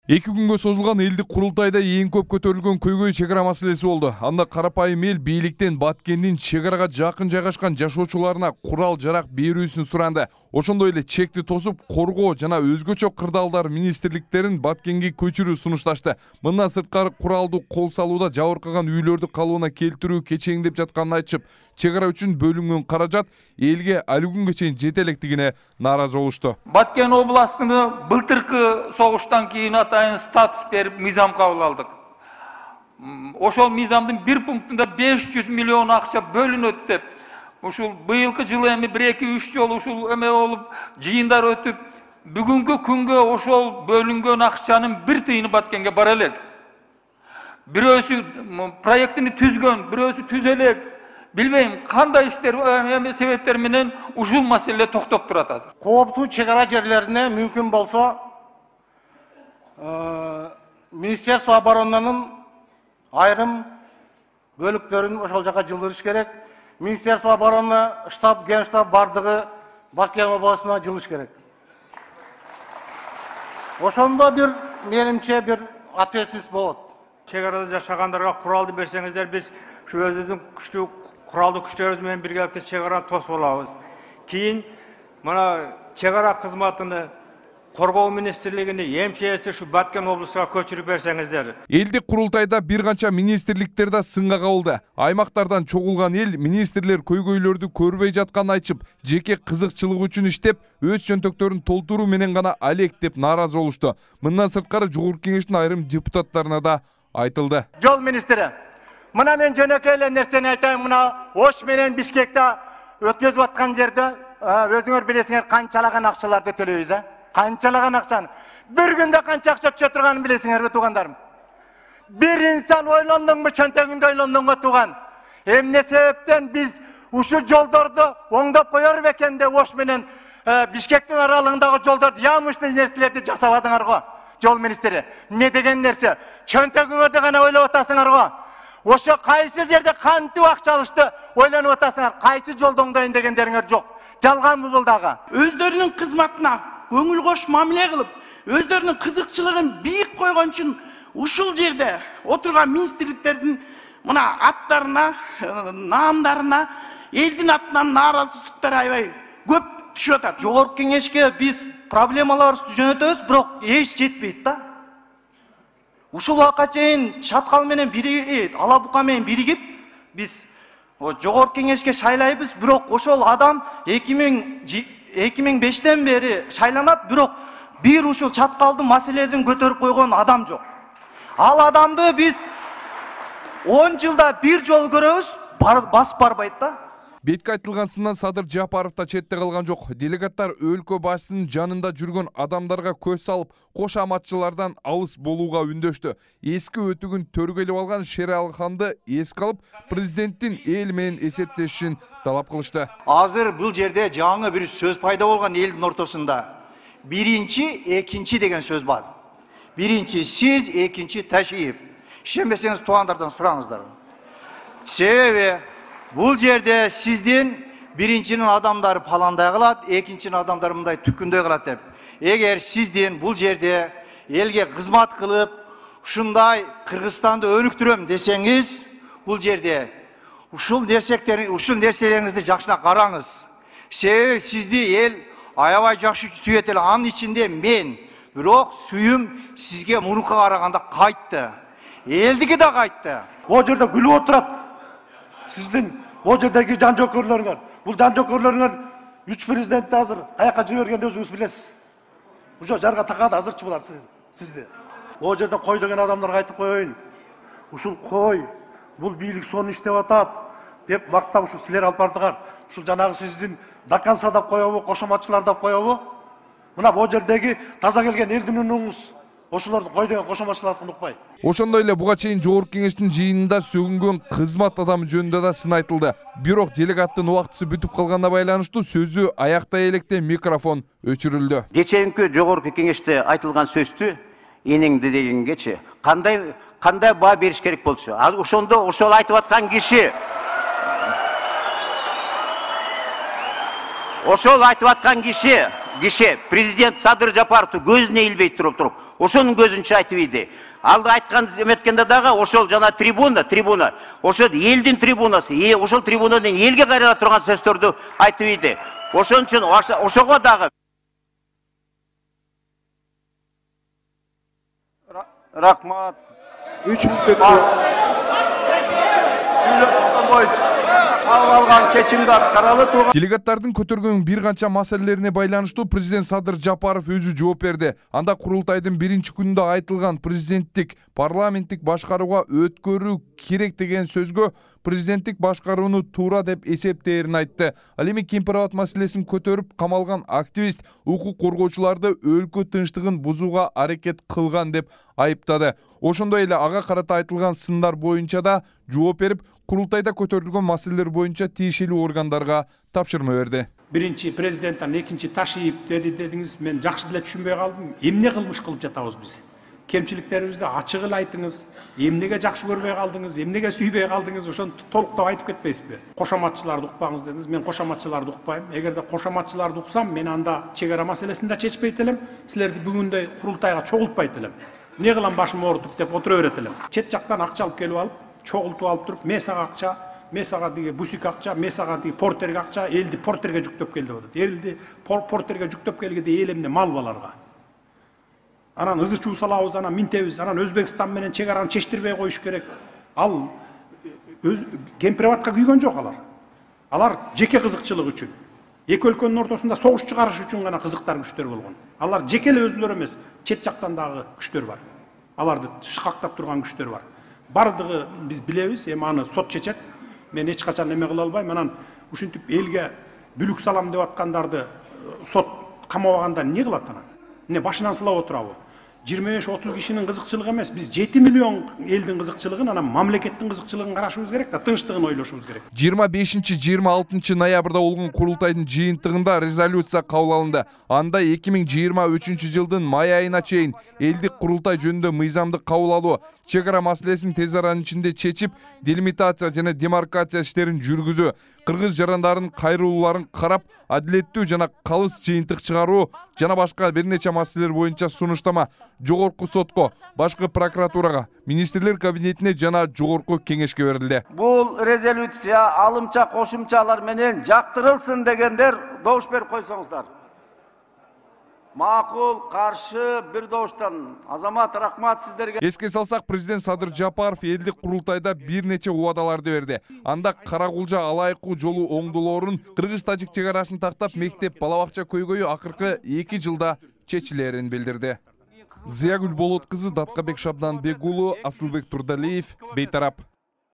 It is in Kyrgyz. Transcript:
2 күнгө созулган элдик курултайда эң көп көтөрүлгөн көйгөй чек ара маселеси болду. Анда карапайым эл бийликтен Баткендин чек арага жакын жайгашкан жашоочуларына курал жарак берүүсүн суранды. Ошондой эле чекти тосуп коргоо жана өзгөчө кырдаалдар министрликтерин Баткенге көчүрүү сунушташты. Мындан сырткары куралдуу кол салууда жабыркаган үйлөрдү калыбына келтирүү кечеңдеп жатканын айтышып, чек ара үчүн бөлүнгөн каражат элге али күнгө чейин жете электигине нааразы болушту. Баткен областыны былтыркы согуштан кийин атайын статус берип мыйзам кабыл алдык. Ошол мыйзамдын бир пунктунда 500 миллион акча бөлүнөт деп, ушул быйылкы жылы эми 1-2-3 жолу ушул эме болуп, жыйындар өтүп, бүгүнкү күнгө ошол бөлүнгөн акчанын бир тыйыны Баткенге бара элек. Бирөөсү проектини түзгөн, бирөөсү түзө элек. Билбейм, кандай иштер себептер менен ушул маселе токтоп турат азыр. Кооптуу чек ара жерлерине мүмкүн болсо Министерство оборонунун айрым бөлүктөрүн ошол жака жылдырыш керек. Министерство обороны штаб, генштаб бардыгы Баткен областына жылыш керек. Ошондо бир менимче бир ответственность болот. Чек арада жашагандарга куралды берсеңиздер, биз ушу өзүбүздүн күчтүү куралдуу күчтөрүбүз менен биргеликте чек араны тосуп алабыз. Кийин мына чек ара кызматыны Коргоо министрлигине эмчээси ушу Баткен облусуна көчүрүп берсеңиздер. Элдик курултайда бир канча министрликтер да сынга кабылды. Аймактардан чогулган эл министрлер көйгөйлөрдү көрбөй жатканын айтып, жеке кызыкчылык үчүн иштеп, өз чөнтөктөрүн толтуруу менен гана алек деп нааразы болушту. Мындан сырткары Жогорку Кеңештин айрым депутаттарына да айтылды. Жол министри, мына мен жөнөкөй эле нерсени айтайын, мына Ош менен Бишкекте өткөзүп аткан жерде өзүңөр билесиңер канчалаган акчаларды төлөйбүз, канчалаган акчаны. Bir günde kança akça düşe turganын bilesиңерби тугандарым. Bir insan ойлондуңбу, чөнтөгүндө ойлондуңбу туган. Эмне себептен биз ушу жолдорду оңдоп коёр бекен деп Ош менен Бишкектин аралыгындагы жолдорду ямыштуу нерселерди жасабадыңар го. Жол министри, эмне деген нерсе? Чөнтөгүңөрдү гана ойлоп атасыңар го. Ошо кайсы жерде кантип акча алышты ойлонуп атасыңар, кайсы жолду оңдойн дегендериңер жок. Жалганбы бул дагы? Өздөрүнүн кызматына көңүл кош мамиле кылып, өздөрүнүн кызыкчылыгын бийик койгон үчүн ушул жерде отурган министрликтердин мына аттарына, наамдарына элдин атынан нааразычылыктар аябай көп түшүп атат. Жогорку Кеңешке биз проблемаларыбызды жөнөтөбүз, бирок эч жетпейт да. Ушул убакка чейин Чаткал менен Ала Бука менен биригип биз Жогорку Кеңешке шайлайбыз, бирок ошол адам 2005-тен бери шайланат, бирок бир ушул Чаткалдын маселесин көтөрүп койгон адам жок. Ал адамды биз 10 жылда бир жол көрөбүз, басып барбайт да. Бетке айтылган сындан Садыр Жапаров да четте калган жок. Делегаттар өлкө башчысынын жанында жүргөн адамдарга көз салып, кош аматчылардан алыс болууга үндөштү. Эски өтүгүн төргөлөп алган Шералханды эске алып, президенттин эл менен эсептешишин талап кылышты. Азыр бул жерде жаңы бир сөз пайда болгон элдин ортосунда. Биринчи, экинчи деген сөз бар. Биринчи сиз, экинчи Ташиев. Ишенбесеңиз туугандардан сураңыздар. Себеби бул жерде сиздин биринчинин адамдары паландай кылат, экинчинин адамдары мындай түккүндөй кылат деп. Эгер сиздин бул жерде элге кызмат кылып, ушундай Кыргызстанды өнүктүрөм десеңиз, бул жерде ушул нерселериңизди жакшына караңыз. Себеби сизди эл аябай жакшы сүйөт эле, анын ичинде мен, бирок сүйүм сизге мурунка караганда кайтты. Элдиги да кайтты. О жерде күлүп отурат. Сиздин о жердеги жан жокөрлөрүңөр, бул жан жокөрлөрүңөр 3 президентти азыр каяка жибергенди өзүңүз билесиз. Ушо жарга такады азырчы булар сизди. О жерде кой деген адамдарга айтып коеюн. Ушул кой, бул бийлик сонун иштеп атат деп мактап ушу силер алып бардыңар. Ушул жанагы сиздин Даканса деп коебу, кошоматчылар деп коебу. Мына бу жердеги таза келген элдин үнүңүз. Ошолорду кой деген кошоматчыларды унутпай. Ошондой эле буга чейин Жогорку Кеңештин жыйынында сөгүнгөн кызмат адамы жөнүндө да сын айтылды. Бирок делегаттын убактысы бүтүп калганына байланыштуу сөзү аяктай электе микрофон өчүрүлдү. Кечээинки Жогорку Кеңеште айтылган сөздү энеңди дегенгечи кандай баа бериш керек болчу? Ал ошондо ошол айтып аткан киши киши президент Садыр Жапаровду көзүнө илбей туруп ошонун көзүнчө айтып ийди. Алды айткан эметкенде дагы ошол жана трибуна, ошол элдин трибунасы, ошол трибунадан элге кайрыла турган сөздөрдү айтып ийди. Ошон үчүн ошого дагы рахмат. 3 мүнөттө кабыл алган чечимди аткаралы турган. Делегаттардын көтөргөн бир канча маселелерине байланыштуу президент Садыр Жапаров өзү жооп берди. Анда курултайдын биринчи күнүндө айтылган президенттик парламенттик башкарууга өткөрүү керек деген сөзгө президенттик башкарууну туура деп эсептээрин айтты. Ал эми Кемпирабад маселесин көтөрүп камалган активист укук коргоочуларды өлкө тынчтыгын бузууга аракет кылган деп айыптады. Ошондой эле ага карата айтылган сындар боюнча да жооп берип, курултайда көтөрүлгөн маселелер боюнча тиешелүү органдарга тапшырма берди. Биринчи президенттен экинчи Ташиев дедиңиз, мен жакшы деле түшүнбөй калдым. Эмне кылмыш кылып жатабыз биз? Кемчиликтерибизди ачык эле айтыңыз. Эмнеге жакшы көрбөй калдыңыз, эмнеге сүйбөй калдыңыз, ошону толуктап айтып кетпейсизби? Кошоматчыларды укпаңыз дедиңиз. Мен кошоматчыларды укпайм. Эгерде кошоматчыларды уксам, мен анда чек ара маселесин да чечпейт элем. Силерди бүгүндөй курултайга чогултпайт элем. Не кылам башым оорутуп деп отура берет элем. Чет жактан акча алып келип алып, чогултуп алып туруп, мен сага акча, мен сага диги бусик акча, мен сага диги портерге акча, элди портерге жүктөп кел деп атат. Элди портерге жүктөп келгенде эл эмне мал баларга. Анан ызы чуу салабыз, анан минтебиз, анан Өзбекстан менен чек араны чечтирбей коюш керек. Ал Кемпирабадка күйгөн жок алар. Алар жеке кызыкчылык үчүн. Эки өлкөнүн ортосунда согуш чыгарыш үчүн гана кызыктар күчтөр болгон. Алар жеке эле өзүлөрү эмес, чет жактан дагы күчтөр бар. Аларды шыкактап турган күчтөр бар. Бардыгы биз билебиз, эми аны сот чечет. Мен эч качан эме кыла албайм. Анан ушинтип элге бүлүк салам деп аткандарды сот камабаганда эмне кылат анан? Эмне башынан сылап отурабы? 25-30 кишинин кызыкчылыгы эмес, биз 7 миллион элдин кызыкчылыгын, анан мамлекеттин кызыкчылыгын карашыбыз керек да, тынчтыгын ойлошубуз керек. 25-26 ноябрда болгон курултайдын жыйынтыгында резолюция кабыл алынды. Анда 2023 жылдын май айына чейин элдик курултай жөнүндө мыйзамды кабыл алуу, чек ара маселесин тез аранын ичинде чечип, делимитация жана демаркация иштерин жүргүзүү, кыргыз жарандарын кайрылууларын карап, адилеттүү жана калыс жыйынтык чыгаруу жана башка бир нече маселелер боюнча сунуштама жогорку сотко, башкы прокуратурага, министрлер кабинетине жана жогорку кеңешке берилди. Бул резолюция алымча кошумчалар менен жактырылсын дегендер добуш берип койсоңуздар. Макул, каршы, бир добуштан. Азамат, рахмат сиздерге. Эске салсак, президент Садыр Жапаров элдик курултайда бир нече убадаларды берди. Анда Каракулжа алайкуу жолу оңдулоорун, кыргыз-тажик чек арасын тактап, мектеп бала-бакча көйгөйү акыркы 2 жылда чечилерин билдирди. Зиягүл Болот кызы, Даткабек Шабданбек уулу, Асылбек Турдалиев, Бейтарап.